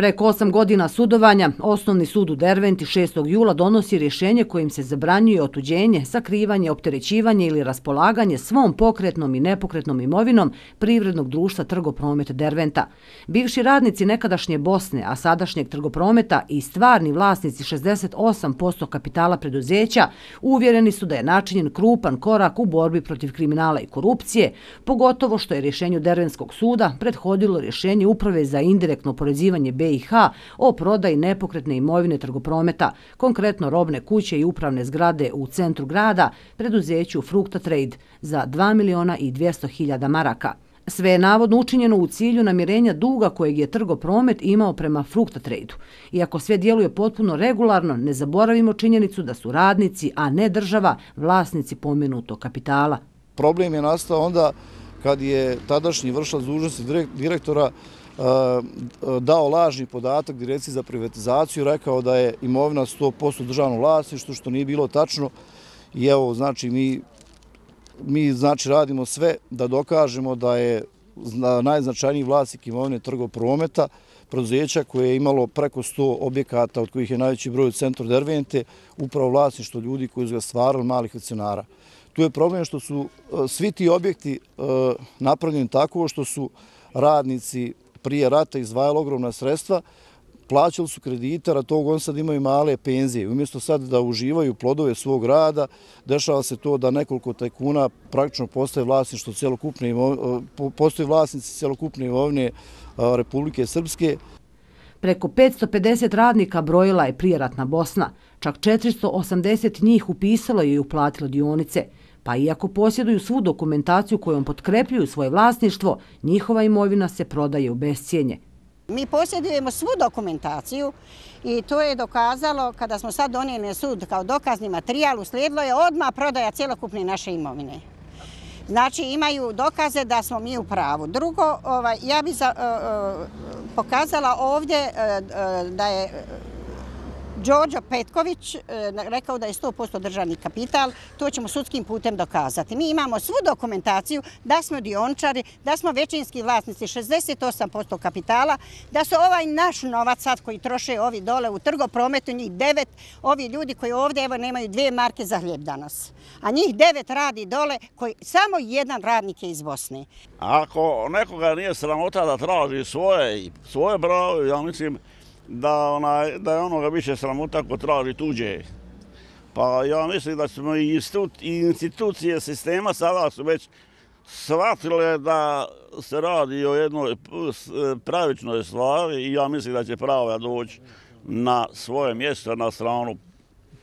Preko 8 godina sudovanja, Osnovni sud u Derventi 6. jula donosi rješenje kojim se zabranjuje otuđenje, sakrivanje, opterećivanje ili raspolaganje svom pokretnom i nepokretnom imovinom Privrednog društva Trgopromet Derventa. Bivši radnici nekadašnje Bosne, a sadašnjeg Trgoprometa i stvarni vlasnici 68% kapitala preduzeća uvjereni su da je načinjen krupan korak u borbi protiv kriminala i korupcije, pogotovo što je rješenju Derventskog suda prethodilo rješenje Uprave za indirektno oporezivanje BiH o prodaji nepokretne imovine Trgoprometa, konkretno robne kuće i upravne zgrade u centru grada, preduzeću Frukta Trade za 2.200.000 maraka. Sve je navodno učinjeno u cilju namirenja duga kojeg je Trgopromet imao prema Frukta Trade-u. Iako sve djeluje potpuno regularno, ne zaboravimo činjenicu da su radnici, a ne država, vlasnici pomenutog kapitala. Problem je nastao onda kad je tadašnji vršilac dužnosti direktora dao lažni podatak Direkciji za privatizaciju, rekao da je imovina 100% državno vlasništvo, što nije bilo tačno. I evo, znači, mi radimo sve da dokažemo da je najznačajniji vlasnik imovine Trgoprometa, preduzeća koje je imalo preko 100 objekata, od kojih je najveći broj u centru Dervente, upravo vlasništvo ljudi koji su ga stvarali, malih akcionara. Tu je problem što su svi ti objekti napravljeni tako što su radnici prije rata izdvajali ogromna sredstva, plaćali su kredite, a tog on sad imaju male penzije. Umjesto sad da uživaju plodove svog rada, dešava se to da nekoliko tajkuna praktično postaje vlasništvo postoje vlasnici celokupne imovine Republike Srpske. Preko 550 radnika brojila je prijeratna Bosna. Čak 480 njih upisalo je i uplatilo dionice. Pa iako posjeduju svu dokumentaciju kojom potkrepljuju svoje vlasništvo, njihova imovina se prodaje u bescijenje. Mi posjedujemo svu dokumentaciju i to je dokazalo kada smo sad donijeli na sud kao dokazni materijal, uslijedilo je odmah prodaja cjelokupne naše imovine. Znači imaju dokaze da smo mi u pravu. Drugo, ja bih pokazala ovdje da je Đorđo Petković rekao da je 100% državni kapital, to ćemo sudskim putem dokazati. Mi imamo svu dokumentaciju da smo dioničari, da smo većinski vlasnici 68% kapitala, da su ovaj naš novac sad koji troše ovi dole u Trgoprometu, njih 9, ovi ljudi koji ovdje evo nemaju 2 marke za hljeb danas. A njih 9 radi dole, koji samo jedan radnik je iz Bosne. Ako nekoga nije sramota da traži svoje pravo, ja mislim da je onoga više sramota ko traži tuđe. Pa ja mislim da smo i institucije sistema sada su već shvatile da se radi o jednoj pravičnoj stvari i ja mislim da će pravda doći na svoje mjesto, na stranu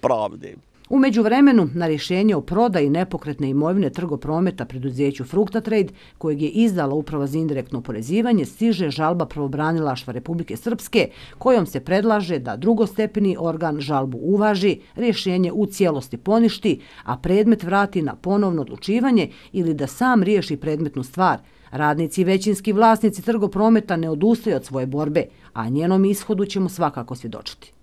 pravde. U međuvremenu, na rješenje o prodaji nepokretne imovine Trgoprometa preduzeću Frukta Trade, kojeg je izdala Uprava za indirektno oporezivanje, stiže žalba pravobranilaštva Republike Srpske, kojom se predlaže da drugostepeni organ žalbu uvaži, rješenje u cijelosti poništi, a predmet vrati na ponovno odlučivanje ili da sam riješi predmetnu stvar. Radnici i većinski vlasnici Trgoprometa ne odustaju od svoje borbe, a njenom ishodu ćemo svakako svjedočiti.